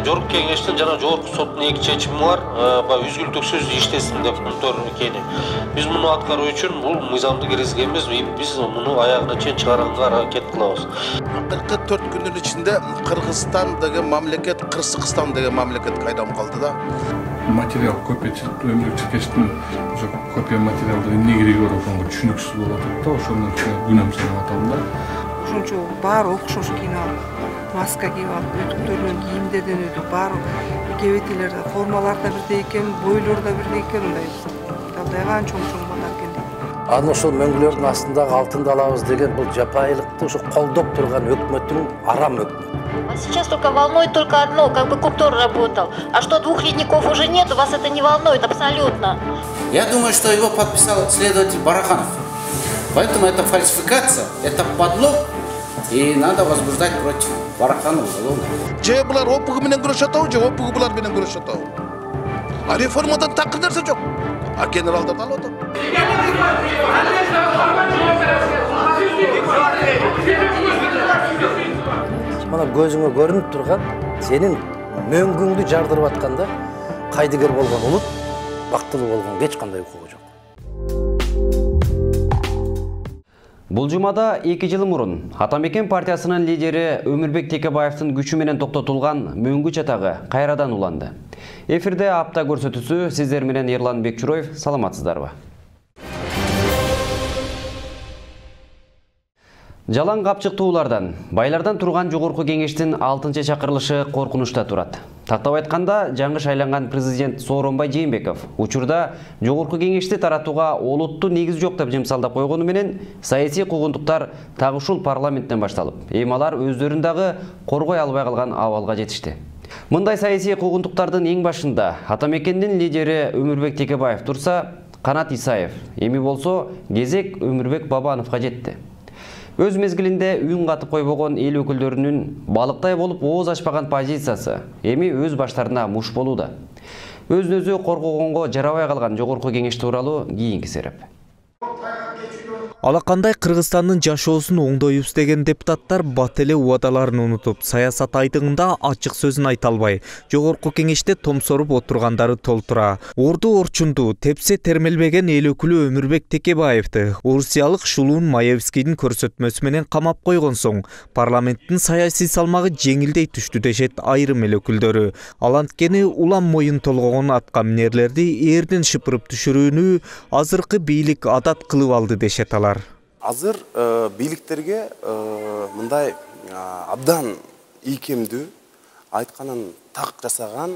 жогорку кеңештин жана жогорку соттун эки чечими бар. Баягы үзгүлтүксүз иштесин деп контор экени. Биз муну аткаруу үчүн бул мыйзамды киргизгенбиз. Биз муну аягына чейин чыгарганга аракет кылабыз. 44 күндүн ичинде Кыргызстан деген мамлекет, Кыргызстан деген мамлекет кайдам калды да. Материал көпөчүлүк өмүрлүк чиркештин ошо копия материалды эмне кереги бар экенин түшүнүксүз болуп атат да, ошондон күнөм санап атам да. Ошончо баары окшош кийинип алып, маска кийип алып, өтүктөрдөн кийимдерден өтүп, баары кебетелер да, формалар да бирдей экен, бойлор да бирдей экен, мындай абдайган чоң-чоң балдар экен. Аны ошол мөңгүлөрдүн астындагы алтынды алабыз деген бул жапайылыкты ошо колдоп турган өкмөттүн арам өкмөтү. Сейчас только волнует только одно, как бы Куптор работал. А что двух ледников уже нет, вас это не волнует абсолютно. Я думаю, что его подписал следователь Бараханов. Поэтому это фальсификация, это подлог, и надо возбуждать против Бараханова уголовное. Же булар опугу менен күрөшүп атабы, же опугу булар менен күрөшүп атабы. А реформадан такыр нерсе жок. А генералдарды алып атат. Мана көзүңө көрүнүп турган сенин мөңгүңдү жардырып атканда кайдыгер болгон улут бактылуу болгон эч кандай укугу жок. Бул жумада 2 жыл мурун Атамекен партиясынын лидери Өмүрбек Текебаевдин күчү менен токтотулган мөңгү чатагы кайрадан уланды. Эфирде апта көрсөтүүсү сиздер менен Ерлан Бекчуроев, саламатсыздарбы? Жалаң капчыктуулардан, байлардан турган жогорку кеңештин 6-чакырылышы коркунучта турат. Тактап айтканда, жаңы шайланган президент Сооронбай Жээнбеков учурда жогорку кеңешти таратууга олуттуу негиз жок деп жымсалдап койгону менен, саясий куугунтуктар так ушул парламенттен башталып, эми алар өздөрүн дагы коргой албай калган абалга жетишти. Мындай саясий куугунтуктардын эң башында Атамекендин лидери Өмүрбек Текебаев турса, Канат Исаев, эми болсо кезек Өмүрбек Бабановго жетти. Өз мезгилинде үн катып койбогон эл өкүлдөрүнүн балыктай болуп ооз ачпаган позициясы эми өз баштарына муш болууда. Өзүн өзү коргогонго жарабай калган жогорку кеңеш тууралуу кийинки сереп. Алакандай Кыргызстандын жашоосун оңдойбуз деген депутаттар бат эле убадаларын унутуп, саясат айдыгында ачык сөзүн айта албай, жогорку кеңеште томсоруп отургандары толтура. Орду орчунду, тепсе термелбеген эл өкүлү Өмүрбек Текебаевди орусиялык Шулуун Маевскийдин көрсөтмөсү менен камап койгон соң, парламенттин саясий салмагы жеңилдей түштү дешет айрым эл өкүлдөрү. Ал анткени улам моюн толгогон атка минерлерди эрден шыпырып түшүрүүнү азыркы бийлик адат кылып алды дешет алар. Азыр бийликтерге мындай абдан ийкемдүү айтканын так жасаган,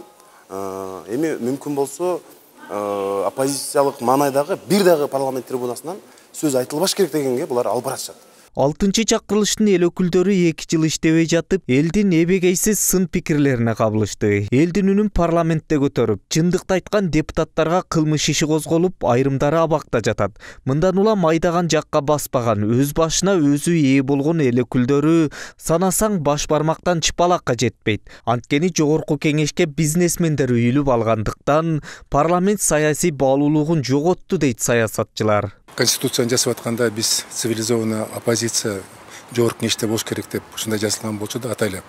эми мүмкүн болсо оппозициялык маанайдагы бир дагы парламент трибунасынан сөз айтылбаш керек дегенге булар алып баратышат. 6-чакырылыштын эл өкүлдөрү 2 жыл иштебей жатып, элдин эбегейсиз сын пикирлерине кабылышты. Элдин үнүн парламентте көтөрүп, чындыкты айткан депутаттарга кылмыш иши козголуп, айрымдары абакта жатат. Мындан улам айдаган жакка баспаган, өз башына өзү ээ болгон эл өкүлдөрү санасаң баш бармактан чыпалакка жетпейт. Анткени жогорку кеңешке бизнесмендер үйүлүп алгандыктан парламент саясий баалуулугун жоготту дейт саясатчылар. Конституцияны жасап атканда биз цивилизованный оппозиция жогорку кеңеште болуш керек деп ушундай жазылган болчу да атайлап.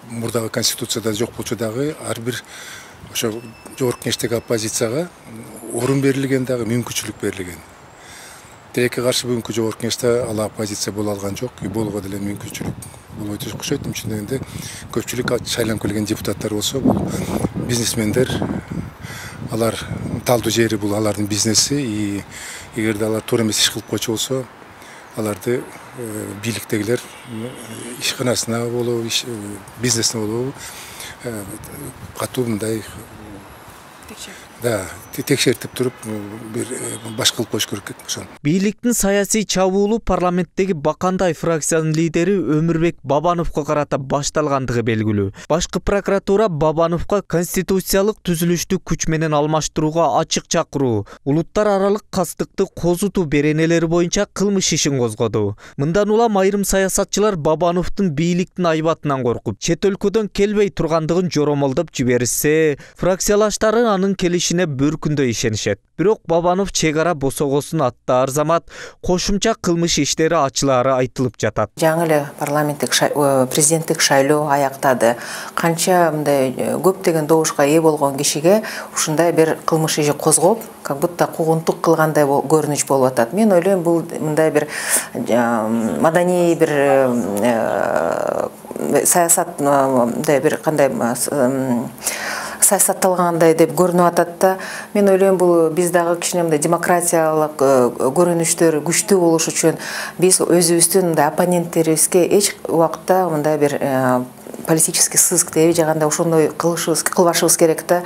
Мурдагы конституцияда жок болчу дагы ар бир ошо жогорку кеңештеги оппозицияга орун берилген дагы мүмкүнчүлүк берилген. Тилекке каршы бүгүнкү жогорку кеңеште ал оппозиция боло алган жок, болууга деле мүмкүнчүлүк болбойт окшойт. Ошондой эле көпчүлүк шайланып келген депутаттар болсо, бул бизнесмендер, алар талдуу жери бул алардын бизнеси, и эгерде алар туура эмес иш кылып койчу болсо, аларды бийликтегилер ишканасына болобу, бизнесине болобу катуу мындай текшертип туруп бир баш кылып коюш керек ошону. Бийликтин саясий чабуулу парламенттеги Бакандай фракциянын лидери Өмүрбек Бабановго карата башталгандыгы белгилүү. Башкы прокуратура Бабановго конституциялык түзүлүштү күч менен алмаштырууга ачык чакыруу, улуттар аралык кастыкты козутуу беренелери боюнча кылмыш ишин козгоду. Мындан улам айрым саясатчылар Бабановдун бийликтин айбатынан коркуп, чет өлкөдөн келбей тургандыгын жоромолдоп жиберишсе, фракциялаштары анын келишине бір күндө ишенишет. Бирок Бабанов чек ара босогосун аттаар замат кошумча кылмыш иштери ачылаары айтылып жатат. Жаңы эле президенттик шайлоо аяктады. Канча мындай көптөгөн добушка ээ болгон кишиге ушундай бир кылмыш иши козгоп, как будто куугунтук кылгандай көрүнүш болуп атат. Мен ойлойм, бул мындай бир маданий бир саясат, мындай бир кандай саясатталгандай деп көрүнүп атат да. Мен ойлойм, бул биз дагы кичине мындай демократиялык көрүнүштөр күчтүү болуш үчүн биз өзүбүздүн мындай оппоненттерибизге эч убакта мындай бир политический сыск деп жаганда ошондой кылбашыбыз керек да.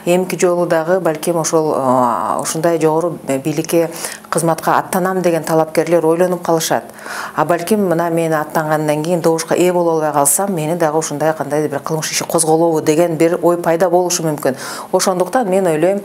Эмки жолу дагы балким ушундай жогору бийликке кызматка аттанам деген талапкерлер ойлонуп калышат. А балким мына мен аттангандан кийин добушка ээ боло албай калсам, мени дагы ушундай кандайдыр бир кылмыш иши козголобу деген бир ой пайда болушу мүмкүн. Ошондуктан мен ойлойм,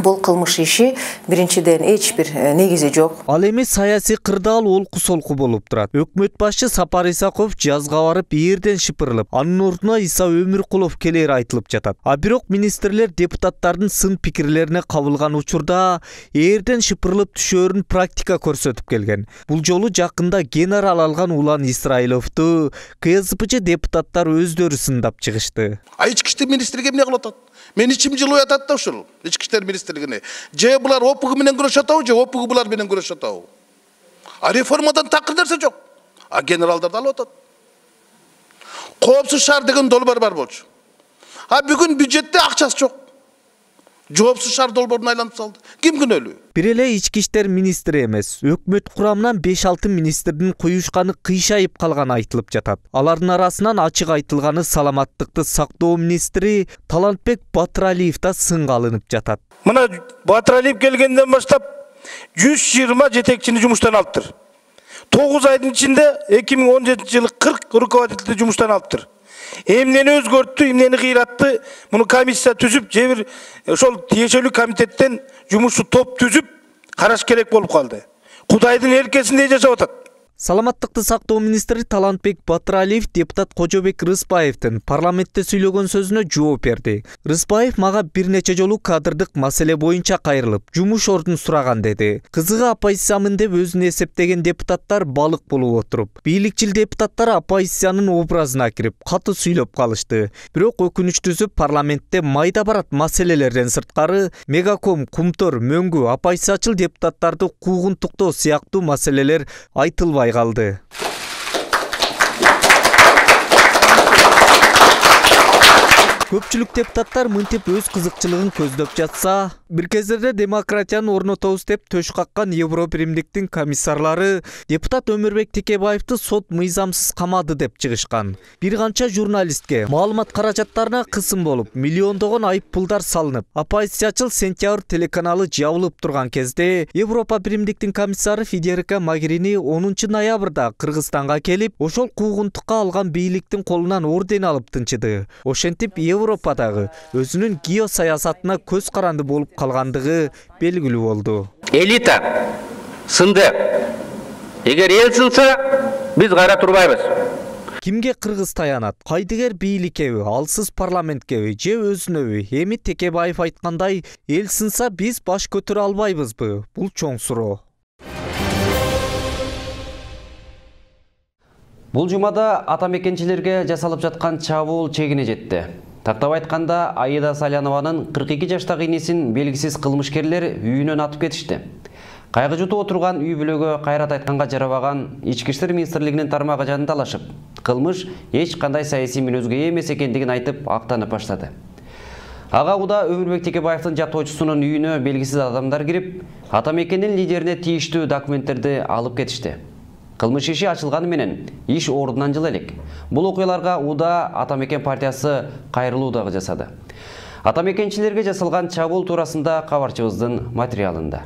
бул кылмыш иши биринчиден эч бир негизи жок. Ал эми саясий кырдаал олку солку болуп турат. Өкмөт башчы Сапар Исаков жазга барып эрден шыпырылып, анын ордуна Иса Өмүркулов келери айтылып жатат. А бирок министрлер депутаттардын сын пикирлерине кабылган учурда эрден шыпырылып түшөөрүн практика көрсөтүп келген. Бул жолу жакында генерал алган Улан Исраиловду КСПЧ депутаттар өздөрү сындап чыгышты. Ички иштер министрлиги эмне кылып атат? Мен ичим жылып атат да ушул ички иштер министрлигине. Же булар ОПГ менен күрөшүп атабы, же ОПГ булар менен күрөшүп атабы? А реформадан такыр нерсе жок. А генералдарды алып атат. Коопсуз шаар деген долбоор бар болчу. А бүгүн бюджетте акчасы жок. Жоопсуз шаар долбоорун айлантып салды. Ким күнөөлүү? Бир эле ички иштер министри эмес, өкмөт курамынан 5-6 министрдин куюшканы кыйшайып калганы айтылып жатат. Алардын арасынан ачык айтылганы саламаттыкты сактоо министри Талантбек Батыралиев да сынга алынып жатат. Мына Батыралиев келгенден баштап 120 жетекчини жумуштан алыптыр. 9 айдын ичинде 2017-жылы 40 руководителди жумуштан алыптыр. Эмнени өзгөрттү, эмнени кыйратты, муну комиссия түзүп, же бир ошол тиешелүү комитеттен жумушчу топ түзүп караш керек болуп калды. Кудайдын эркесинде жашап атат. Саламаттыкты сактоо министри Талантбек Батыралиев депутат Кожобек Рыспаевдин парламентте сүйлөгөн сөзүнө жооп берди. Рыспаев мага бир нече жолу кадрдык маселе боюнча кайрылып, жумуш ордун сураган деди. Кызыгы оппозициямын деп өзүн эсептеген депутаттар балык болуп отуруп, бийликчил депутаттар оппозициянын образына кирип, катуу сүйлөп калышты. Бирок өкүнүчтүүсү парламентте майда барат маселелерден сырткары Мегаком, Кумтор, Мөңгү, оппозициячыл депутаттарды куугунтуктоо сыяктуу маселелер айтылбай қалды. Көпчүлүк депутаттар мынтип өз кызыкчылыгын көздөп жатса, бир кездерде демократияны орнотобуз деп төш каккан Европримдиктин комиссарлары депутат Өмүрбек Текебаевди сот мыйзамсыз камады деп чыгышкан. Бир канча журналистке маалымат каражаттарына кысым болуп, миллиондогон айып пулдар салынып, оппозициячыл Сентябрь телеканалы жабылып турган кезде Европримдиктин комиссары Федерика Магерини 10 ноябрда Кыргызстанга келип, ошол куугунтукка алган бийликтин колунан орден алып тынчыды. Ошентип Европадагы өзүнүн геосаясатына көз каранды болуп калгандыгы белгилүү болду. Элита сынды. Эгер эл сынса, биз кайра турбайбыз. Кимге Кыргыз таянат? Кайдыгер бийликеби, алсыз парламенткеби, же өзүнөбү? Эми Текебаев айткандай, эл сынса биз баш көтөрө албайбызбы? Бул чоң суроо. Бул жумада атамекенчилерге жасалып жаткан чабуул чегине жетти. Тактап айтканда, Аида Салянованын 42 жаштагы инесин белгисиз кылмышкерлер үйүнөн атып кетишти. Кайгы жутуп отурган үй бүлөгө кайрат айтканга жарабаган Ички иштер министрлигинин тармагы жандалашып, кылмыш эч кандай саясий мүнөзгө эмес экендигин айтып актанып баштады. Ага уда Өмүрбек Текебаевдин жактоочусунун үйүнө белгисиз адамдар кирип, атамекендин лидерине тийиштүү документтерди алып кетишти. Кылмыш иши ачылганы менен иш ордунан жылы элек. Бул окуяларга УДА Атамекен партиясы кайрылуу дагы жасады. Атамекенчилерге жасалган чабуул туурасында кабарчыбыздын материалында.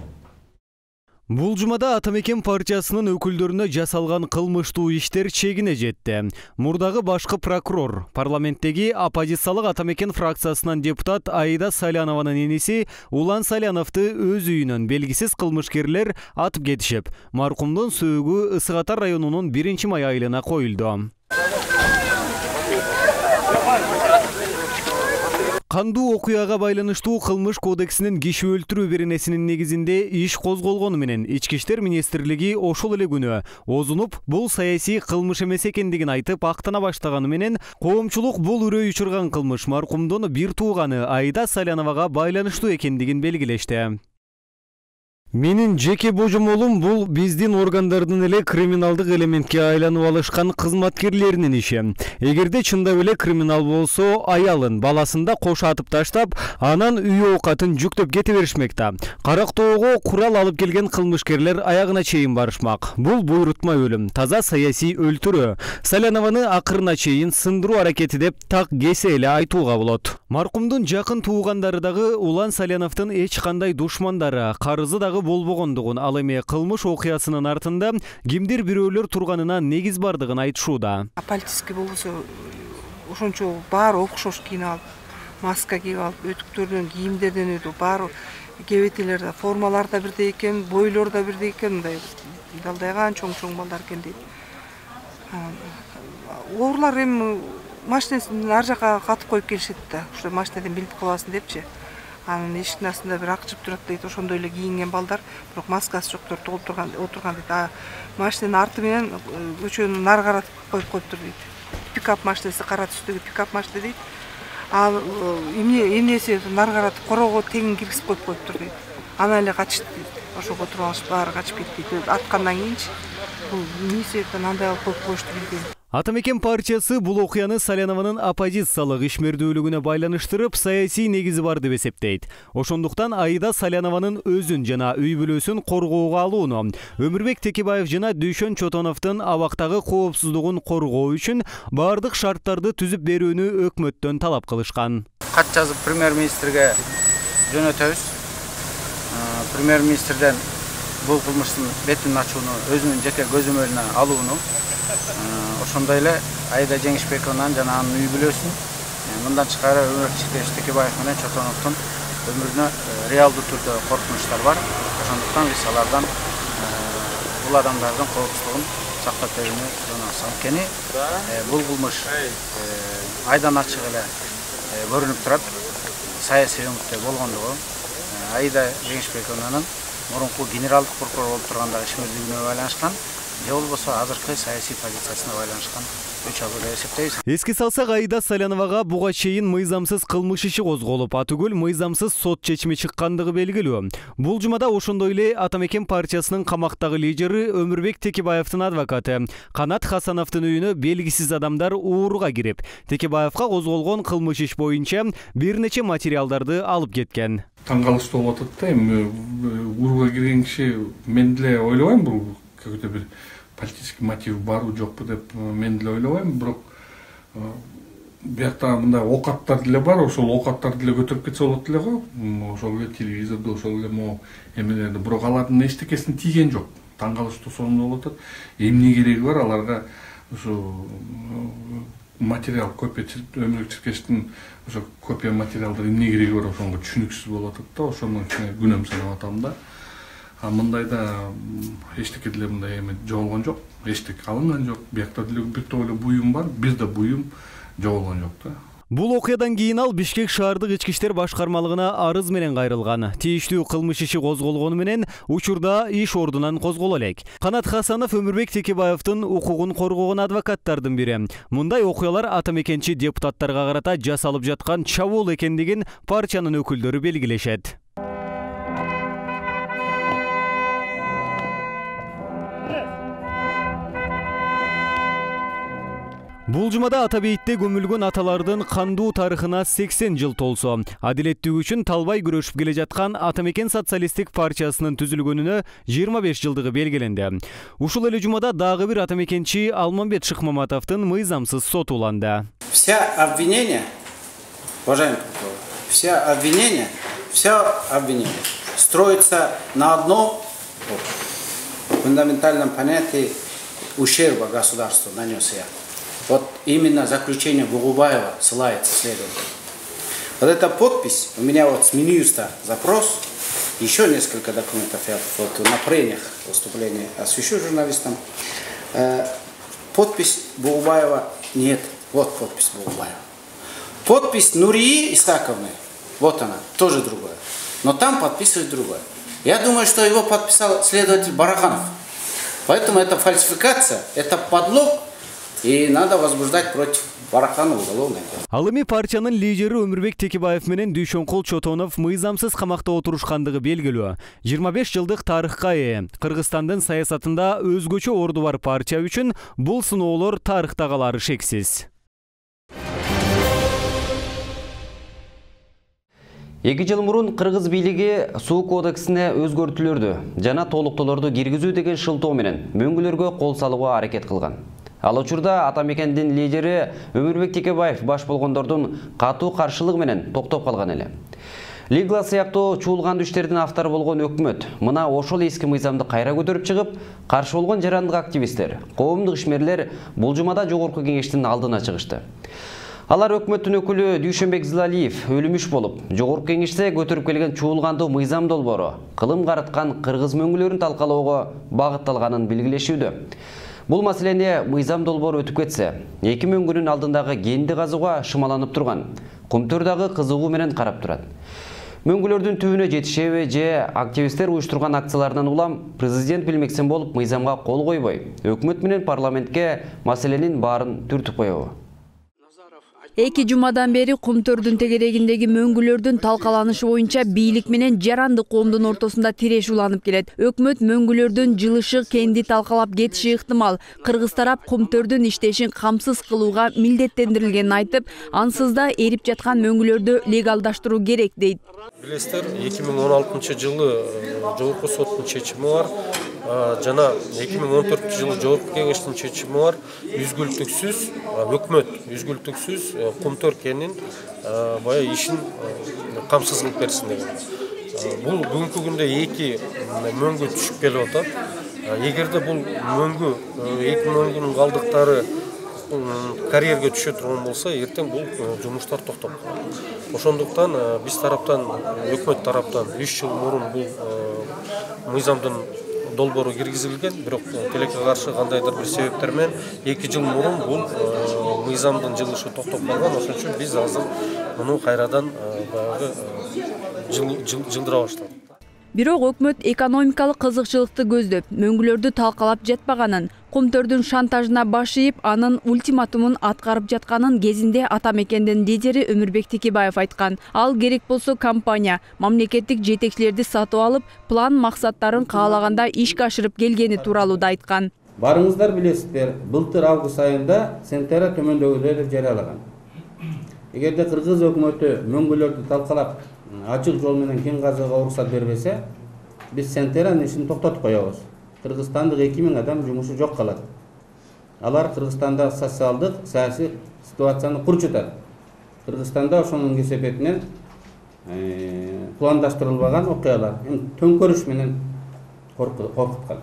Бул жумада Атамекен партиясынын өкүлдөрүнө жасалган кылмыштуу иштер чегине жетти. Мурдагы башкы прокурор, парламенттеги оппозициялык Атамекен фракциясынан депутат Аида Салянованын энеси Улан Саляновду өз үйүнөн белгисиз кылмышкерлер атып кетишип, маркумдун сөөгү Ысык Ата районунун 1-май айылына коюлду. Кандуу окуяга байланыштуу кылмыш кодексинин киши өлтүрүү беренесинин негизинде иш козголгону менен Ички иштер министрлиги ошол эле күнү озунуп бул саясий кылмыш эмес экендигин айтып актана баштаганы менен коомчулук бул үрөй учурган кылмыш маркумдун бир тууганы Аида Саляновага байланыштуу экендигин белгилешти. Менин жеке божомолум бул биздин органдардын эле криминалдык элементке айланып алышкан кызматкерлеринин иши. Эгерде чындап эле криминал болсо, аялын, баласын да кош атып таштап, анан үй оокатын жүктөп кете беришмек да. Карактоого курал алып келген кылмышкерлер аягына чейин барышмак. Бул буйрутма өлүм, таза саясий өлтүрүү. Салянованы акырына чейин сындыруу аракети деп так кесе эле айтууга болот. Маркумдун жакын туугандары дагы Улан Саляновдун эч кандай душмандары, карызы дагы болбогондугун, ал эми кылмыш окуясынын артында кимдир бирөөлөр турганына негиз бардыгын айтышууда. Политический болсо ошончо баары окшош кийинип алып, маска кийип алып, өтүктөрдөн, кийимдерден өтүп, баары кебетелер да, формалар да бирдей экен, бойлор да бирдей экен, мындай далдайган чоң балдар экен дейт. Оорлар эми машинесин ар жака катып коюп келишет да, ошо машинеден билип каласың депчи. Анын эшиктин астында бир ак жып турат дейт, ошондой эле кийинген балдар, бирок маскасы жоктор толуп отурган дейт. Машинанын арты менен көчөнү нары каратып коюп коюптур дейт. Пикап машинеси, кара түстөгү пикап машина дейт. Ал эмнеси нары каратып короого тең киргизип коюптур дейт. Анан эле качышты дейт. Ошого туруп алышып баары качып кетти дейт. Аткандан кийинчи бул эмне себептен андай алып коюп коюшту билбейм. Атамекен партиясы бул окуяны Салянованын оппозициялык ишмердүүлүгүнө байланыштырып, саясий негизи бар деп эсептейт. Ошондуктан Аида Салянованын өзүн жана үй бүлөсүн коргоого алууну, Өмүрбек Текебаев жана Дүйшөн Чотоновдун абактагы коопсуздугун коргоо үчүн бардык шарттарды түзүп берүүнү өкмөттөн талап кылышкан. Кат жазып премьер-министрге жөнөтөбүз. Премьер-министрден бул кылмыштын бетин ачууну, өзүнүн жеке көзөмөлүнө алууну, ошондой эле Аида Жеңишбековнан жана анын үй бүлөсүн мындан тышкары Өмүрбек Текебаев менен Чотоновдун өмүрүнө реалдуу түрдө коркунучтар бар. Ошондуктан биз алардан бул адамдардын коопсуздугун сактап берүүнү сурасабыз. Анткени бул кылмыш айдан ачык эле көрүнүп турат. Саясий өңүттө болгондугу Аида Жеңишбековнанын мурунку генералдык прокурор болуп тургандагы ишмердүүлүгүнө байланышкан, же болбосо азыркы саясий позициясына байланышкан үч абыл деп эсептейбиз. Эске салсак, Аида Саляновага буга чейин мыйзамсыз кылмыш иши козголуп, атүгүл мыйзамсыз сот чечими чыккандыгы белгилүү. Бул жумада ошондой эле Атамекен партиясынын камактагы лидери Өмүрбек Текебаевдин адвокаты Канат Хасановдун үйүнө белгисиз адамдар ууруга кирип, Текебаевга козголгон кылмыш иш боюнча бир нече материалдарды алып кеткен. Таң калыштуу болуп атат да, эми ууруга кирген киши мен деле ойлобойм бул какой-то бир политический мотив барбы жокпу деп мен деле ойлобойм, бирок биякта мындай оокаттар деле бар, ошол оокаттарды деле көтөрүп кетсе болот эле го. Ошол эле телевизордо, ошол эле могу эмелерде, бирок алардын эчтекесине тийген жок. Таң калыштуу сонун болуп атат. Эмне кереги бар аларга ошо материал копия Өмүрбек Черкешевдин ошо копия материалдар эмне кереги бар, ошонго түшүнүксүз болуп атат да, ошондон кичине күнөм санап атам да. Мындайда эчтеке деле мындай эме жоголгон жок, эчтеке алынган жок. Биякта деле бир топ эле буюм бар, бизде буюм жоголгон жок да. Бул окуядан кийин ал Бишкек шаардык ички иштер башкармалыгына арыз менен кайрылган. Тийиштүү кылмыш иши козголгону менен учурда иш ордунан козголо элек. Канат Хасанов Өмүрбек Текебаевдин укугун коргогон адвокаттардын бири. Мындай окуялар атамекенчи депутаттарга карата жасалып жаткан чабуул экендигин партиянын өкүлдөрү белгилешет. Бул жумада ата бейитте көмүлгөн аталардын кандуу тарыхына 80 жыл толсо, адилеттүүлүк үчүн талбай күрөшүп келе жаткан Атамекен социалисттик партиясынын түзүлгөнүнө 25 жылдыгы белгиленди. Ушул эле жумада дагы бир атамекенчи Алмамбет Шыкмаматовдун мыйзамсыз соту уланды. Все обвинения, уважаемый прокурор, все обвинения строятся на одном фундаментальном понятии ущерба государству нанес я. Вот именно заключение Бугубаева ссылается следователь. Вот эта подпись, у меня вот с Минюста запрос, еще несколько документов я вот на прениях выступления освещу журналистам. Подпись Бугубаева нет. Вот подпись Бугубаева. Подпись Нурии Исаковны, вот она, тоже другое. Но там подписывает другое. Я думаю, что его подписал следователь Бараханов. Поэтому это фальсификация, это подлог, и надо возбуждать против Бараханова уголовное дело. Ал эми партиянын лидери Өмүрбек Текебаев менен Дүйшөнкул Чотонов мыйзамсыз камакта отурушкандыгы белгилүү. 25 жылдык тарыхка ээ. Кыргызстандын саясатында өзгөчө орду бар партия үчүн бул сыноолор тарыхта калары шексиз. 2 жыл мурун Кыргыз бийлиги суу кодексине өзгөртүүлөрдү жана толуктоолорду киргизүү деген шылтоо менен мөңгүлөргө кол салууга аракет кылган. Ал учурда Атамекендин лидери Өмүрбек Текебаев баш болгондордун катуу каршылыгы менен токтоп калган эле. Лигла сыяктуу чуулган иштердин автору болгон өкмөт мына ошол эски мыйзамды кайра көтөрүп чыгып, каршы болгон жарандык активисттер, коомдук ишмерлер бул жумада жогорку кеңештин алдына чыгышты. Алар өкмөттүн өкүлү Дүйшөнбек Зылалиев өлүмүш болуп, жогорку кеңеште көтөрүп келген чуулгандуу мыйзам долбоору кылым карыткан кыргыз мөңгүлөрүн талкалоого багытталганын белгилешүүдө. Бул маселени мыйзам долбоору өтүп кетсе, эки мөңгүнүн алдындагы кенди казууга шымаланып турган Кумтөр дагы кызыгуу менен карап турат. Мөңгүлөрдүн түбүнө жетишеби же активисттер уюштурган акциялардан улам президент билмексен болуп мыйзамга кол койбой, өкмөт менен парламентке маселенин баарын түртүп коебу? 2 жумадан бери Кумтөрдүн тегерегиндеги мөңгүлөрдүн талкаланышы боюнча бийлик менен жарандык коомдун ортосунда тиреш уланып келет. Өкмөт мөңгүлөрдүн жылышы кенди талкалап кетиши ыктымал. Кыргыз тарап Кумтөрдүн иштешин камсыз кылууга милдеттендирилгенин айтып, ансыз да эрип жаткан мөңгүлөрдү легалдаштыруу керек дейт. Билесиздер, 2016 жылы жогорку соттун чечими бар. Жана 2014 жылы жогорку кеңештин чечими бар. Үзгүлтүксүз өкмөт үзгүлтүксүз Кумтөр кенин баягы ишин камсыз кылып берсин деген. Бул бүгүнкү күндө эки мөңгү түшүп келип атат. Эгерде бул мөңгү эки мөңгүнүн калдыктары карьерге түшө турган болсо, эртең бул жумуштар токтоп калат. Ошондуктан биз тараптан, өкмөт тараптан 3 жыл мурун бул мыйзамдын долбоору киргизилген, бирок тилекке каршы кандайдыр бир себептер менен 2 жыл мурун бул мыйзамдын жылышы токтоп калган. Ошон үчүн биз азыр муну кайрадан баягы жылдыра баштадык. Бирок өкмөт экономикалык кызыкчылыкты көздөп, мөңгүлөрдү талкалап жатпаганын, Кумтөрдүн шантажына баш ийип, анын ультиматумун аткарып жатканын кезинде Атамекендин лидери Өмүрбек Текебаев айткан. Ал керек болсо компания мамлекеттик жетекчилерди сатып алып, план максаттарын каалаганда ишке ашырып келгени тууралуу да айткан. Барыңыздар билесиздер, былтыр август айында Сентера төмөндөгүлөрдү жарыялаган. Эгерде Кыргыз өкмөтү мөңгүлөрдү талкалап ачык жол менен кен казууга уруксат бербесе, биз Сентеранын ишин токтотуп коебуз. Кыргызстандык 2000 адам жумушу жок калат. Алар Кыргызстанда социалдык, саясий ситуацияны курчутат. Кыргызстанда ошонун кесепетинен пландаштырылбаган окуялар, төңкөрүш менен коркуткан.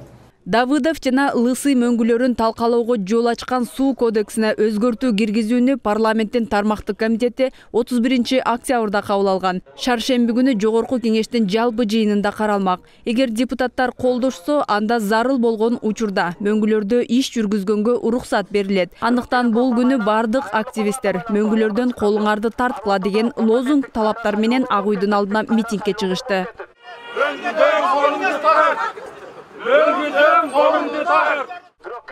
Давыдов жана Лысый мөңгүлөрүн талкалоого жол ачкан суу кодексине өзгөртүү киргизүүнү парламенттин тармактык комитети 31 октябрда кабыл алган. Шаршемби күнү жогорку кеңештин жалпы жыйынында каралмак. Эгер депутаттар колдошсо, анда зарыл болгон учурда мөңгүлөрдө иш жүргүзгөнгө уруксат берилет. Андыктан бул күнү бардык активисттер мөңгүлөрдөн колуңарды тарткыла деген лозунг талаптар менен Ак үйдүн алдына митингге чыгышты.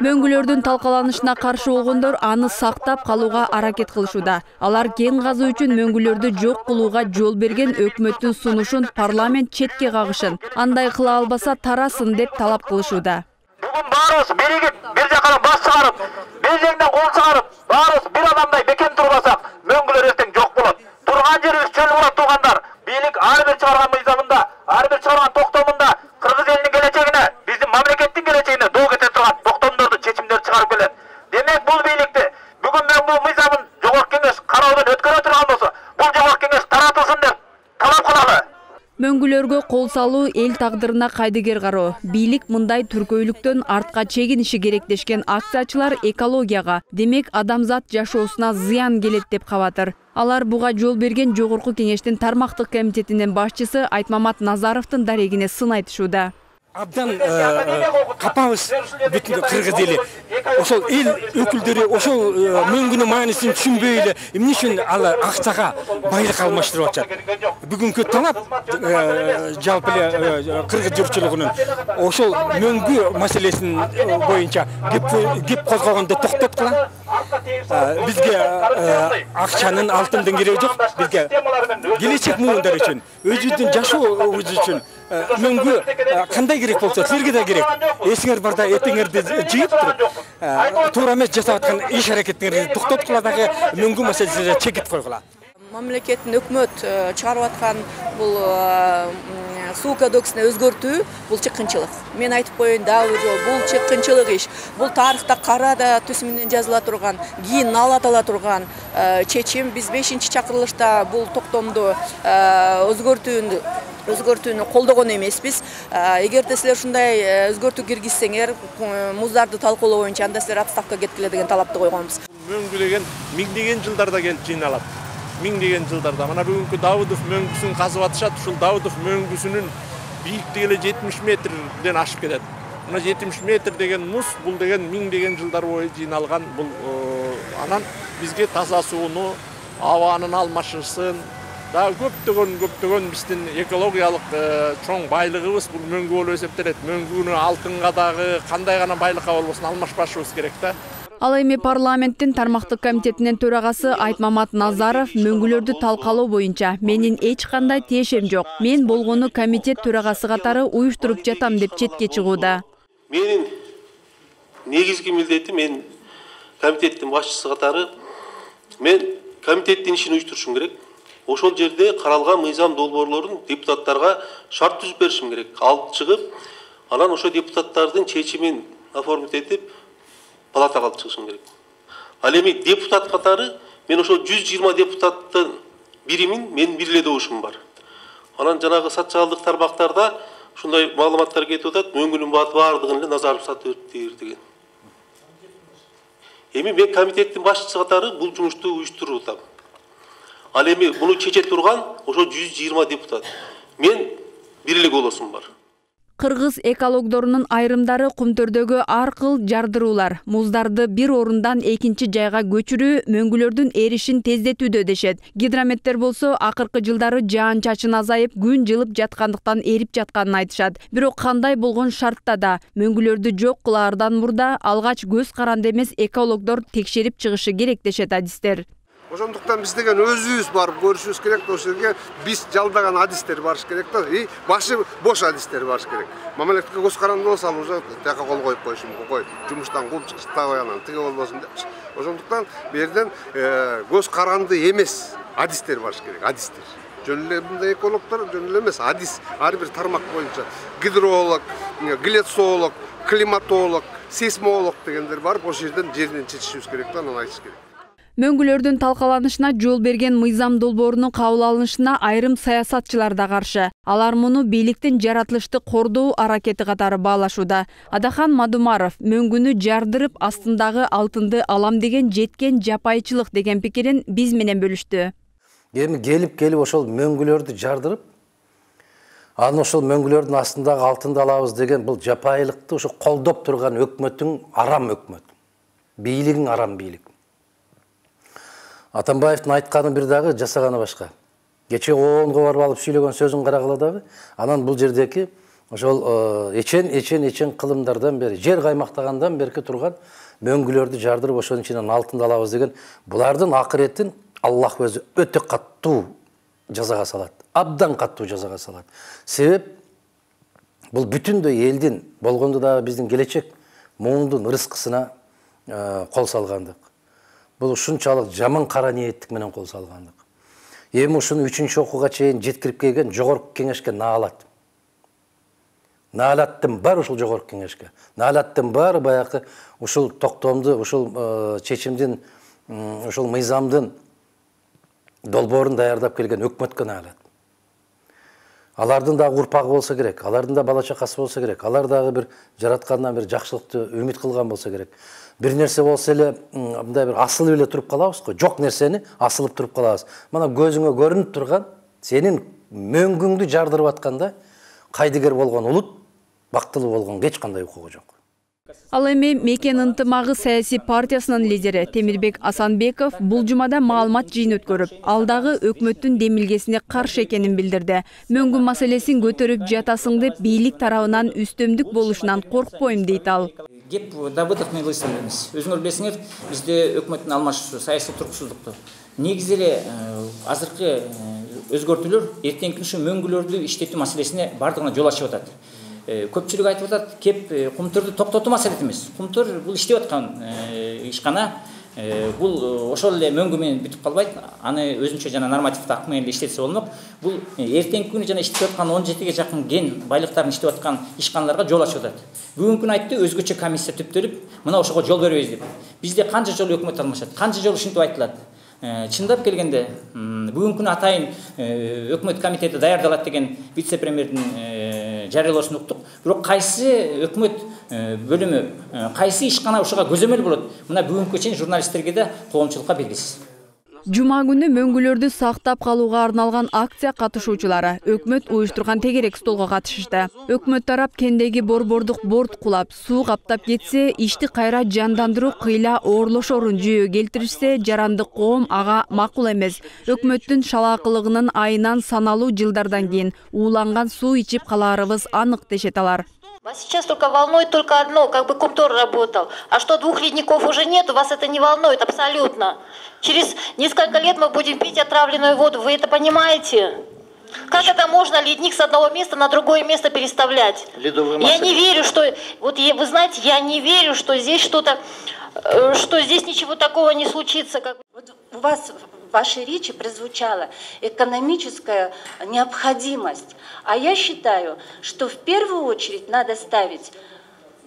Мөңгүлөрдүн талкаланышына каршы болгондор аны сактап калууга аракет кылышууда. Алар кен казуу үчүн мөңгүлөрдү жок кылууга жол берген өкмөттүн сунушун парламент четке кагышын, андай кыла албаса тарасын деп талап кылышууда. Бүгүн баарыбыз биригип, бир жакка бас чыгарып, белжеңден кол чыгарып, баарыбыз бир адамдай бекен турбасак, мөңгүлөр эртең жок болот. Турган жерибиз чөл болот туугандар. Бийлик ар бир чыгарган мыйзамында, ар бир чыгарган токтомунда Кыргыз элинин келечегине, биздин мамлекеттин келечегине доо кете турган токтомдорду, чечимдерди чыгарып келет. Демек бул бийликти бүгүн мен бул мыйзамын жогорку кеңеш кароодон өткөрө турган болсо, бул жогорку кеңеш таратылсын деп талап кылалы. Мөңгүлөргө кол салуу эл тагдырына кайдыгер кароо. Бийлик мындай түркөйлүктөн артка чегиниши керек дешкен акциячылар экологияга, демек адамзат жашоосуна зыян келет деп кабатыр. Алар буга жол берген жогорку кеңештин тармактык комитетинин башчысы Айтмамат Назаровдун дарегине сын айтышууда. абдан капабыз бүтүн кыргыз эли. Ошол эл өкүлдөрү ошол мөңгүнүн маанисин түшүнбөй эле эмне үчүн ал акчага байлык алмаштырып атышат. Бүгүнкү талап жалпы эле кыргыз журтчулугунун ошол мөңгү маселесин боюнча кеп козгогонду токтоткула. Бизге акчанын алтындын кереги жок. Бизге келечек муундар үчүн, өзүбүздүн жашообуз үчүн мөңгү кандай керек болсо силерге да керек. Эсиңер барда этиңерди жыйып туруп туура эмес жасап аткан иш аракеттерди токтоткула дагы мөңгү маселесине чекит койгула. Мамлекеттин өкмөт чыгарып аткан бул суу кодексине өзгөртүү бул чыккынчылык. Мен айтып коеюн дагы бул чыккынчылык иш. Бул тарыхта кара да түс менен жазыла турган, кийин ала турган чечим. Биз 5-чакырылышта бул токтомду өзгөртүүнү колдогон эмеспиз. Эгерде силер ушундай өзгөртүү киргизсеңер, муздарды талкуулоо боюнча анда силер отставкага кеткиле деген талапты койгонбуз. Мөңгү деген миңдеген жылдарда келип жыйналат. Миңдеген жылдарда. Мына бүгүнкү Давыдов мөңгүсүн казып атышат. Ушул Давыдов мөңгүсүнүн бийиктиги эле 70 метрден ашып кетет. Мына 70 метр деген муз, бул деген миңдеген жылдар бою жыйналган. Бул анан бизге таза сууну, абанын алмашысын, да көптөгөн биздин экологиялык чоң байлыгыбыз бул мөңгү болуп эсептелет. Мөңгүнү алтынга дагы кандай гана байлыкка болбосун алмашпашыбыз керек да. Ал эми парламенттин тармактык комитетинин төрагасы Айтмамат Назаров мөңгүлөрдү талкалоо боюнча менин эч кандай тиешем жок. Мен болгону комитет төрагасы катары уюштуруп жатам деп четке чыгууда. Менин негизги милдетим мен комитеттин башчысы катары мен комитеттин ишин уюштурушум керек. Ошол жерде каралган мыйзам долбоорлорун депутаттарга шарт түзүп беришим керек. Алып чыгып, анан ошо депутаттардын чечимин оформить этип палатага алып чыгышым керек. Ал эми депутат катары мен ошол 120 депутаттын биримин мен бир эле добушум бар. Анан жанагы социалдык тармактарда ушундай маалыматтар кетип атат, мөңгүнүн баардыгын эле Назаров сатып бериптир деген. Эми мен комитеттин башчысы катары бул жумушту уюштуруп атам. Ал эми муну чече турган ошо 120 депутат. Мен бир эле голосум бар. Кыргыз экологдорунун айрымдары Кумтөрдөгү ар кыл жардыруулар, муздарды бир орундан экинчи жайга көчүрүү мөңгүлөрдүн эришин тездетүүдө дешет. Гидрометтер болсо акыркы жылдары жаан-чачын азайып, күн жылып жаткандыктан эрип жатканын айтышат. Бирок кандай болгон шартта да мөңгүлөрдү жок кылаардан мурда алгач көз каранды эмес экологдор текшерип чыгышы керек дешет адистер. Ошондуктан биз деген өзүбүз барып көрүшүбүз керек да, ошол жерге биз жалдаган адистер барыш керек да, башы бош адистер барыш керек. Мамлекетке көз каранды болсо ал уже тияка кол коюп коюшум, кой, жумуштан кууп чыгыш, табай анан тиге болбосун депчи. Ошондуктан бу жерден көз каранды эмес адистер барыш керек, адистер. Жөн эле мындай экологдор жөн эле эмес, адис ар бир тармак боюнча гидролог, глицолог, климатолог, сейсмолог дегендер барып ошол жерден чечишибиз керек да, анан айтыш керек. Мөңгүлөрдүн талкаланышына жол берген мыйзам долбоорунун кабыл алынышына айрым саясатчылар да каршы. Алар муну бийликтин жаратылышты кордоо аракети катары баалашууда. Адахан Мадумаров мөңгүнү жардырып астындагы алтынды алам деген жеткен жапайчылык деген пикирин биз менен бөлүштү. Эми келип ошол мөңгүлөрдү жардырып, анан ошол мөңгүлөрдүн астындагы алтынды алабыз деген бул жапайылыкты ошо колдоп турган өкмөттүн арам өкмөт. Бийлигиң арам бийлик. Атамбаевдин айтканы бир дагы, жасаганы башка. Кече ООНго барып алып сүйлөгөн сөзүн карагыла дагы, анан бул жердеки ошол эчен кылымдардан бери, жер каймактагандан берки турган мөңгүлөрдү жардырып ошонун ичинен алтынды алабыз деген булардын акыретін Аллах өзү өтө каттуу жазага салат. Абдан каттуу жазага салат. Себеп бул бүтүндөй элдин болгондо дагы биздин келечек муундун рызкысына кол салгандык. Бұл ушунчалык жаман кара ниеттик менен кол салгандык. Эми ушуну 3-чү окууга чейин жеткирип келген жогорку кеңешке наалат. Наалаттын бар ушул жогорку кеңешке. Наалаттын баары баягы ушул токтомду, ушул чечимдин, ушул мыйзамдын долбоорун даярдап келген өкмөткө наалат. Алардын дагы урпагы болсо керек, алардын да бала чакасы болсо керек, алар дагы бир жараткандан бир жакшылыкты үмүт кылган болсо керек. Бир нерсе болсо эле мындай бир асылып эле туруп калабыз го, жок нерсени асылып туруп калабыз. Мына көзүңө көрүнүп турган сенин мөңгүңдү жардырып атканда кайдыгер болгон улут бактылуу болгонго эч кандай укугу жок. Ал эми Мекен ынтымагы саясий партиясынын лидери Темирбек Асанбеков бул жумада маалымат жыйын өткөрүп, алдагы өкмөттүн демилгесине каршы экенин билдирди. Мөңгү маселесин көтөрүп жатасың деп бийлик тарабынан үстөмдүк болушунан коркпойм дейт ал. Кеп Давыдов менен элестебиз. Өзүңөр билесиңер, бизде өкмөттүн алмашуусу, саясий туруксуздукту. Негизи эле азыркы өзгөртүүлөр эртеңки күнү мөңгүлөрдү иштетүү маселесине бардыгына жол ачып атат. Көпчүлүк айтып атат, кеп кумтөрдү токтотуу маселеси эмес. Кумтөр бул иштеп аткан ишкана, бул ошол эле мөңгү менен бүтүп калбайт. Аны өзүнчө жана нормативдик акт менен иштетсе болмок. Бул эртеңки күнү жана иштеп аткан 17ге жакын ген байлыктарын иштеп аткан ишканаларга жол ачып атат. Бүгүнкү күнү айтты, өзгөчө комиссия түптөлүп, мына ошого жол беребиз деп. Бизде канча жолу өкмөт алмашат, канча жолу ушинтип айтылат. Чындап келгенде бүгүнкү күнү атайын өкмөт комитети даярдалат деген вице-премьердин жарыялоосун уктук. Бирок кайсы өкмөт бөлүмү, кайсы ишкана ушуга көзөмөл болот? Мына бүгүнкү чейин журналисттерге да коомчулукка белгисиз. Жума күнү мөңгүлөрдү сактап калууга арналган акция катышуучулары өкмөт уюштурган тегерек столго катышышты. Өкмөт тарап кендеги борбордук борт кулап, суу каптап кетсе, ишти кайра жандандыруу кыйла оорлошорун жүйө келтиришсе, жарандык коом ага макул эмес. Өкмөттүн шалаакылыгынын айынан саналуу жылдардан кийин ууланган суу ичип калаарыбыз анык дешет алар. Вас сейчас только волнует только одно, как бы Кумтор работал. А что 2 ледников уже нет, вас это не волнует абсолютно. Через несколько лет мы будем пить отравленную воду, вы это понимаете? Как это можно ледник с одного места на другое место переставлять? Я не верю, что... Вот вы знаете, я не верю, что здесь что-то... Что здесь ничего такого не случится. Вот у вас в вашей речи прозвучала экономическая необходимость. А я считаю, что в первую очередь надо ставить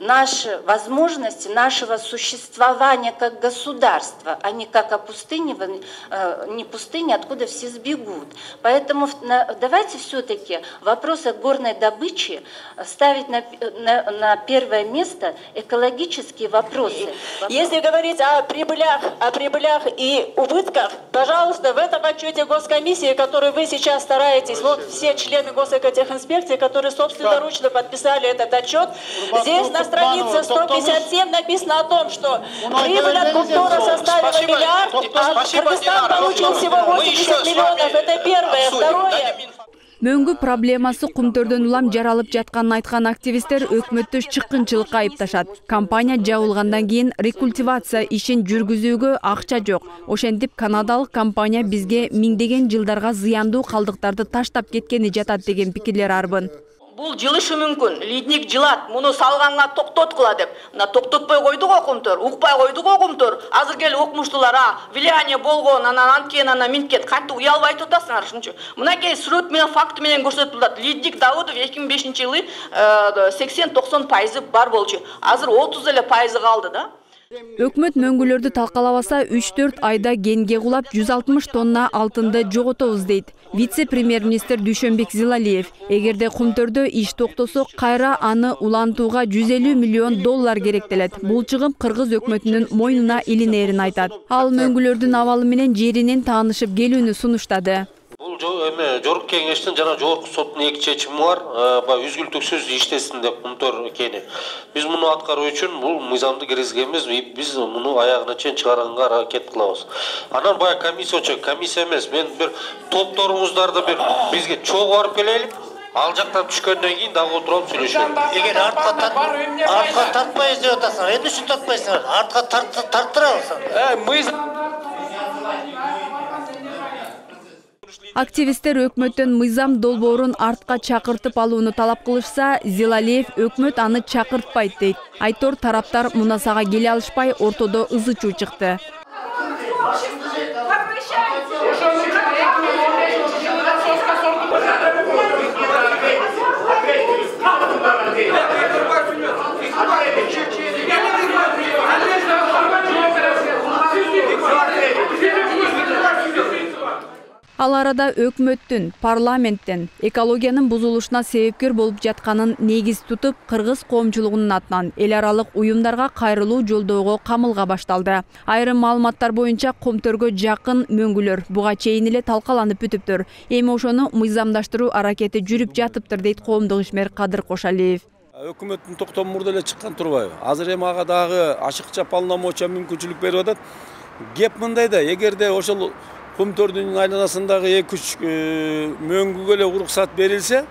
наши возможности нашего существования как государства, а не как не пустыни, откуда все сбегут. Поэтому давайте все-таки в вопросах горной добычи ставить на первое место экологические вопросы. Если говорить о прибылях и убытках, пожалуйста, в этом отчете госкомиссии, который вы сейчас стараетесь, вот все члены госэкотехинспекции, которые собственноручно подписали этот отчет, здесь на странице 157 написано о том, что прибыль от Кумтора составила миллиард, а Кыргызстан получил всего 80 миллионов. Это первое. Второе. Мөңгү проблемасы кумтөрдөн улам жаралып жатканын айткан активисттер өкмөттү чыккынчылыкка айыпташат. Компания жабылгандан кийин рекультивация ишин жүргүзүүгө акча жок. Ошентип канадалык компания бизге миңдеген жылдарга зыяндуу калдыктарды таштап кеткени жатат деген пикирлер арбын. Бул жылышы мүмкүн. Лидник жылат, муну салганга токтоткула деп. Мына токтотпой койду го Кумтор, укпай койду го Кумтор. Азыр келип укмуштулар, влияние болгон, анан минткет, кантип уялбай турасыңар ушунчу. Мынакей сүрөт менен факт менен көрсөтүлөт. Лидник Давыдов 2005-жылы 80-90% бар болчу. Азыр 30 эле пайызы калды да. Өкмөт мөңгүлөрдү талкалабаса 3-4 айда генге кулап 160 тонна алтынды жоготобуз дейт. Вице-премьер-министр Дүйшөнбек Зилалиев. Эгерде Кумтөрдө иш токтосо, кайра аны улантууга 150 миллион доллар керектелет. Бул чыгым кыргыз өкмөтүнүн мойнуна илинерин айтат. Ал мөңгүлөрдүн абалы менен жеринен таанышып келүүнү сунуштады. Бул жогорку кеңештин жана жогорку соттун эки чечими бар. Үзгүлтүксүз иштесин деп Кумтор экени. Биз муну аткаруу үчүн бул мыйзамды киргизгенбиз, биз муну аягына чейин чыгаранга аракет кылабыз. Анан бая комиссия эмес, мен бир топторуңуздарды бизге чогуу барып келели. Ал жактан түшкөндөн кийин дагы отуруп сүйлөшөлү. Эгер артка тартпайбыз деп атасыңар, эмне үчүн тартпайсыңар? Артка тарттырабыз. Активисттер өкмөттөн мыйзам долбоорун артка чакыртып алууну талап кылышса, Зилалиев өкмөт аны чакыртпайт дейт. Айтор тараптар мунасага келе алышпай, ортодо ызы-чуу чыкты. Ал арада өкмөттүн, парламенттен экологиянын бузулушуна себепкер болуп жатканын негиз тутуп, кыргыз коомчулугунун атынан эл аралык уюмдарга кайрылуу жолдоого камылга башталды. Айрым маалыматтар боюнча Кумтөргө жакын мөңгүлөр буга чейин эле талкаланып бүтүптүр. Эми ошону мыйзамдаштыруу аракети жүрүп жатыптыр дейт коомдук ишмер Кадыр Кошалиев. Өкмөттүн токтому мурда эле чыккан турбайбы? Азыр эми ага дагы ашыкча полномочия мүмкүнчүлүк берип атат. Кеп мындайда, эгерде ошол Кумтөрдүн айланасындагы 2-3 мөңгүгө эле уруксат берилсе,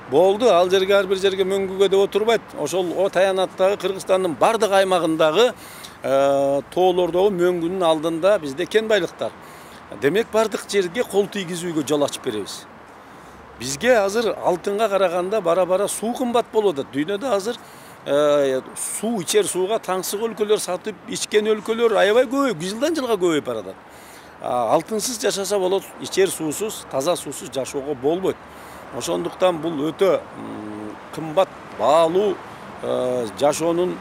болду. Ал жерге ар бир жерге мөңгүгө деп отурбайт. Ошол о таянаттагы Кыргызстандын бардык аймагындагы тоолордогу мөңгүнүн алдында бизде кен байлыктар. Демек бардык жерге кол тийгизүүгө жол ачып беребиз. Бизге азыр алтынга караганда бара-бара суу кымбат болуп атат. Дүйнөдө азыр суу, ичер сууга таңсык өлкөлөр сатып ичкен өлкөлөр аябай көбөйүп, жылдан жылга көбөйүп баратат. Алтынсыз жашаса болот, ичер суусуз, таза суусуз жашоого болбойт. Ошондуктан бул өтө кымбат, баалуу жашоонун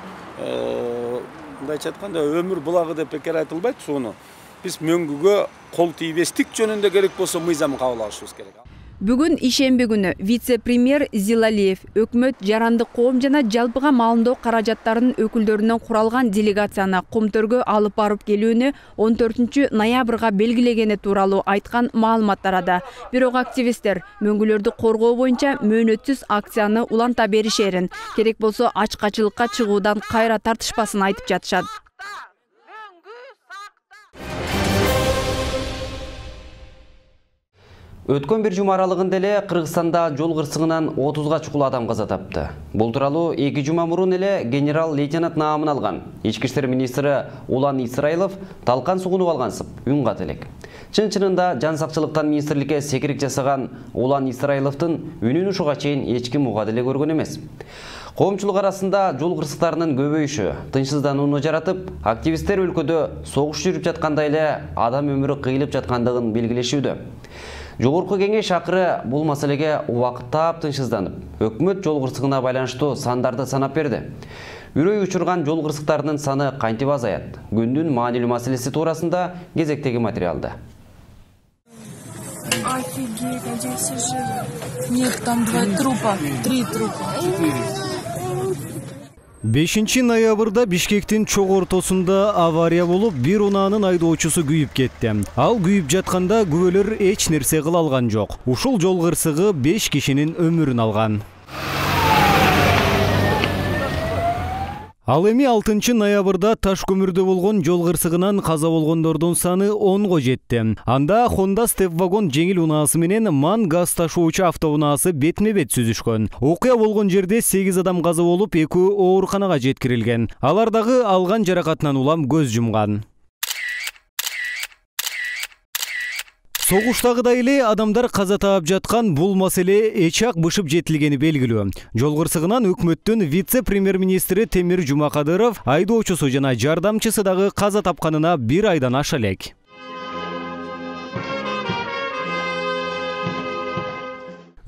мындайча айтканда өмүр булагы деп бекер айтылбайт сууну. Биз мөңгүгө кол тийбестик жөнүндө керек болсо мыйзам кабыл алышыбыз керек. Бүгүн ишемби күнү вице-премьер Зилалиев өкмөт жарандык коом жана жалпыга маалымдоо каражаттарынын өкүлдөрүнөн куралган делегацияны Кумтөргө алып барып келүүнү 14 ноябрга белгилегени тууралуу айткан маалымат тарады. Бирок активисттер мөңгүлөрдү коргоо боюнча мөөнөтсүз акцияны уланта беришерин, керек болсо ачкачылыкка чыгуудан кайра тартышпасын айтып жатышат. Өткөн бир жума аралыгында эле Кыргызстанда жол кырсыгынан 30га чукул адам каза тапты. Бул тууралуу 2 жума мурун эле генерал-лейтенант наамын алган Ички иштер министри Улан Исраилов талкан сугунуп алгансып үн кат элек. Чын-чынында жан сакчылыктан министрликке секирик жасаган Улан Исраиловдун үнүн ушуга чейин эч ким уга деле көргөн эмес. Коомчулук арасында жол кырсыктарынын көбөйүшү тынчсызданууну жаратып, активисттер өлкөдө согуш жүрүп жаткандай эле адам өмүрү кыйылып жаткандыгын белгилешүүдө. Жогорку кеңеш акыры бул маселеге убакыттап тынчсызданып, өкмөт жол кырсыгына байланыштуу сандарды санап берди. Үрөй учурган жол кырсыктарынын саны кантип азаят? Күндүн маанилүү маселеси туурасында кезектеги материалда. Офигеть, где все живы? Нет, там 2 трупа, 3 трупа. 5 ноябрда Бишкектин чок ортосунда авария болуп, бир унаанын айдоочусу күйүп кетти. Ал күйүп жатканда күбөлөр эч нерсе кыла алган жок. Ушул жол кырсыгы 5 кишинин өмүрүн алган. Ал эми 6 ноябрда таш көмүрдө болгон жол кырсыгынан каза болгондордун саны 10го жетти. Анда Honda Step вагон жеңил унаасы менен МАН газ ташуучу автоунаасы бетме-бет сүзүшкөн. Окуя болгон жерде 8 адам каза болуп, 2 ооруканага жеткирилген. Алар дагы алган жаракатынан улам көз жумган. Согуштагыдай эле адамдар каза таап жаткан бул маселе эч-ак бышып жетилгени белгилүү. Жол кырсыгынан өкмөттүн вице-премьер-министри Темир Жумакадыров айдоочусу жана жардамчысы дагы каза тапканына 1 айдан аша элек.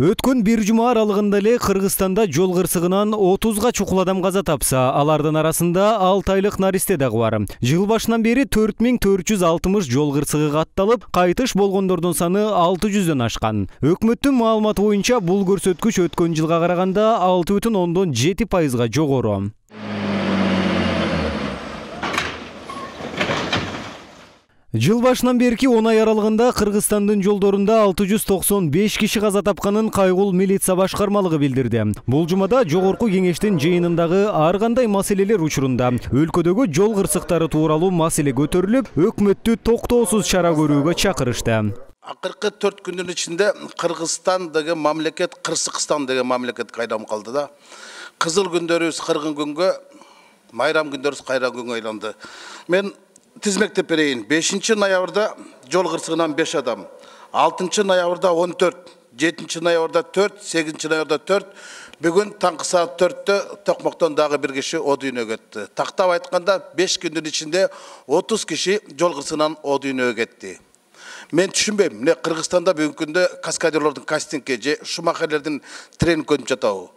Өткөн бир жума аралыгында эле Кыргызстанда жол кырсыгынан 30га чукул адам каза тапса, алардын арасында 6 айлык наристе дагы бар. Жыл башынан бери 4460 жол кырсыгы катталып, кайтыш болгондордун саны 600дөн ашкан. Өкмөттүн маалыматы боюнча бул көрсөткүч өткөн жылга караганда 6,7%га жогору. Жыл башынан берки 10 ай аралыгында Кыргызстандын жолдорунда 695 киши каза тапканын кайгыл милиция башкармалыгы билдирди. Бул жумада жогорку кеңештин жыйынындагы ар кандай маселелер учурунда өлкөдөгү жол кырсыктары тууралуу маселе көтөрүлүп, өкмөттү токтоосуз чара көрүүгө чакырышты. Акыркы 4 күндүн ичинде Кыргызстан деген мамлекет Кырсыкстан деген мамлекетке айламып калды да. Кызыл күндөрүбүз кыргын күнгө, майрам күндөрүбүз кайран күнгө айланды. Мен тизмектеп берейин. 5 ноябрда жол кырсыгынан 5 адам, 6 ноябрда 14, 7 ноябрда 4, 8 ноябрда 4, бүгүн таңкы саат 4-тө Токмоктон дагы бир киши о дүйнөгө кетти. Тактап айтканда 5 күндүн ичинде 30 киши жол кырсыгынан о дүйнөгө кетти. Мен түшүнбөйм, эмне Кыргызстанда бүгүнкү күндө каскадерлордун кастингге же шумахерлердин тренинг өтүп жатабы?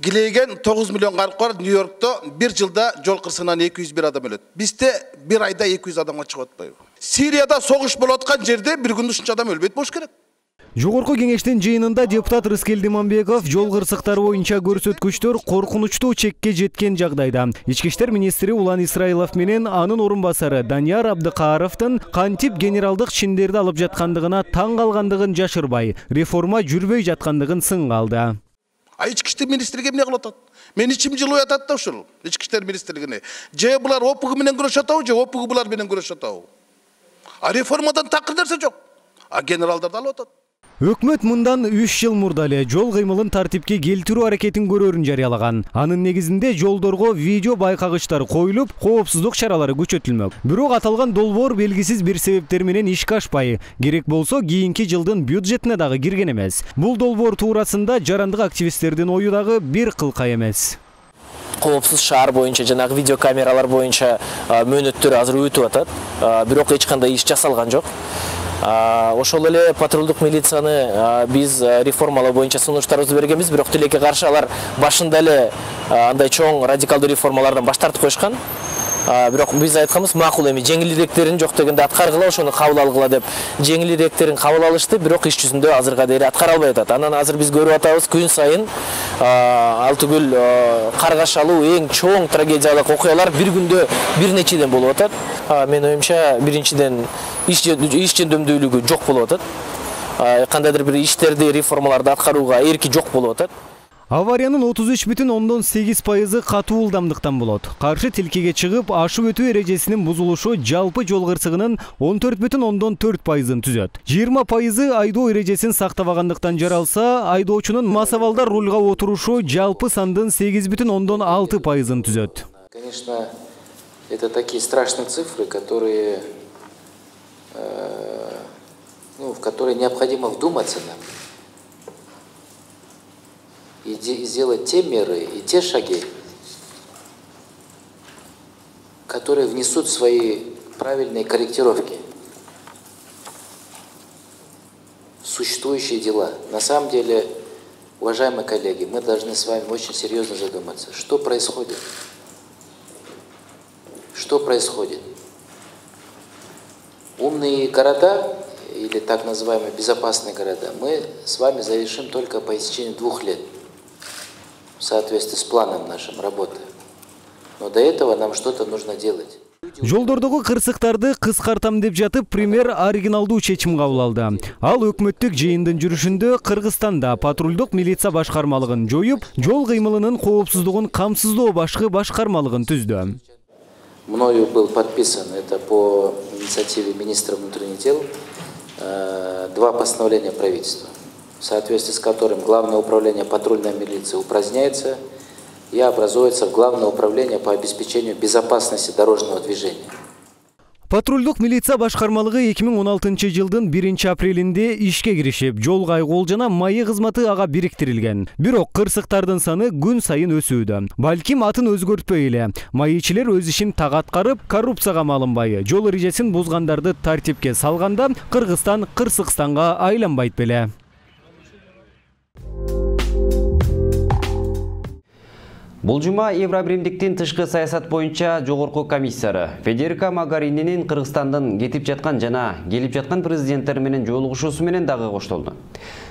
Гилейген 9 миллион калк бар, Нью-Йоркто бир жылда жол кырсыгынан 201 адам өлөт. Бизде бир айда 200 адамга чыгып атпайбы? Сирияда согуш болуп аткан жерде бир күндө ушунча адам өлбөйт болуш керек. Жогорку кеңештин жыйынында депутат Рыскел Диманбеков жол кырсыктары боюнча көрсөткүчтөр коркунучтуу чекке жеткен жагдайда Ички иштер министри Улан Исраилов менен анын орун басары Данияр Абдыкаровдун кантип генералдык чиндерди алып жаткандыгына таң калгандыгын жашырбай, реформа жүрбөй жаткандыгын сынга алды. Ички иштер министрлиги эмне кылып атат? Мен ичим жылып атат да ушул ички иштер министрлигине. Же булар ОПГ менен күрөшүп атабы, же ОПГ булар менен күрөшүп атабы? А реформадан такыр нерсе жок. А генералдарды алып атат. Өкмөт мындан 3 жыл мурда эле жол кыймылын тартипке келтирүү аракетин көрөрүн жарыялаган. Анын негизинде жолдорго видео байкагычтар коюлуп, коопсуздук чаралары күчөтүлмөк. Бирок аталган долбоор белгисиз бир себептер менен ишке ашпай, керек болсо кийинки жылдын бюджетине дагы кирген эмес. Бул долбоор туурасында жарандык активисттердин ою дагы бир кылка эмес. Коопсуз шаар боюнча жанагы видеокамералар боюнча мөөнөттөр азыр өтүп атат. Бирок эч кандай иш жасалган жок. Ошол эле патрулдук милицияны биз реформалоо боюнча сунуштарыбызды бергенбиз, бирок тилекке каршы алар башында эле андай чоң радикалдуу реформалардан баш тартып коюшкан. Бирок биз айтканбыз, макул эми жеңилирээктерин жок дегенде аткаргыла, ошону кабыл алгыла деп жеңилирээктерин кабыл алышты, бирок иш жүзүндө азырга дейин аткара албай атат. Анан азыр биз көрүп атабыз, күн сайын ал түгүл каргашалуу эң чоң трагедиялык окуялар бир күндө бир нечеден болуп атат. Мен оюмча, биринчиден иш жөндөмдүүлүгү жок болуп атат. Кандайдыр бир иштерди, реформаларды аткарууга эрки жок болуп атат. Авариянын 33,8% катуу ылдамдыктан болот. Каршы тилкеге чыгып, ашып өтүү эрежесинин бузулушу жалпы жол кырсыгынын 14,4%-ын түзөт. 20% айдоо эрежесин сактабагандыктан жаралса, айдоочунун масабалда рульга отурушу жалпы сандын 8,6%-ын түзөт. Конечно, это такие страшные цифры, которые, в которые необходимо вдуматься нам. И сделать те меры и те шаги, которые внесут свои правильные корректировки в существующие дела. На самом деле, уважаемые коллеги, мы должны с вами очень серьезно задуматься, что происходит. Что происходит? Умные города, или так называемые безопасные города, мы с вами завершим только по истечении 2 лет. В соответствии с планом нашим работы. Но до этого нам что-то нужно делать. Жолдордогу кырсыктарды кыскартам деп жатып, премьер оригиналдуу чечим кабыл алды. Ал өкмөттүк жыйындын жүрүшүндө Кыргызстанда патрулдук милиция башкармалыгын жоюп, жол кыймылынын коопсуздугун камсыздоо башкы башкармалыгын түздү. Мною был подписан, это по инициативе министра внутренних дел, 2 постановления правительства, в соответствии с которым Главное управление патрульной милиции упраздняется и образуется в Главное управление по обеспечению безопасности дорожного движения. Патрулдук милиция башкармалыгы 2016 жылдын 1 апрелинде ишке киришип, жол кайгол жана майы кызматы ага бириктирилген. Бирок кырсыктардын саны күн сайын өсүүдө. Балким атын өзгөртпөй эле. Майычилер өз ишин так аткарып, коррупцияга малынбай, жол эрежесин бузгандарды тартипке салганда Кыргызстан Кырсыкстанга айланбайт беле. Бул жума Евробиримдиктин тышкы саясат боюнча жогорку комиссары Федерика Могарининин Кыргызстандын кетип жаткан жана келип жаткан президенттер менен жолугушуусу менен дагы коштолду.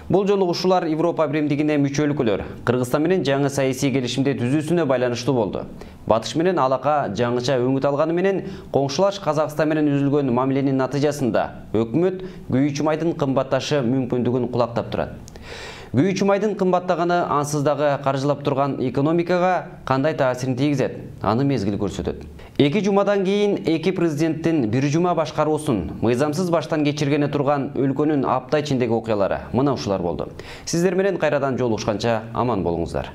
Бул жолугушуулар Европа биримдигине мүчө өлкөлөр Кыргызстан менен жаңы саясий келишимди түзүүсүнө байланыштуу болду. Батыш менен алака жаңыча өңүт алганы менен коңшулаш Казакстан менен үзүлгөн мамиленин натыйжасында өкмөт күйүүчү майдын кымбатташы мүмкүндүгүн кулактап турат. Күйүүчү майдын кымбаттаганы ансыз дагы каржылап турган экономикага кандай таасирин тийгизет? Аны мезгил көрсөтөт. 2 жумадан кийин 2 президенттин 1 жума башкаруусун мыйзамсыз баштан кечиргене турган өлкөнүн апта ичиндеги окуялары мына ушулар болду. Сиздер менен кайрадан жолугушканча аман болуңуздар.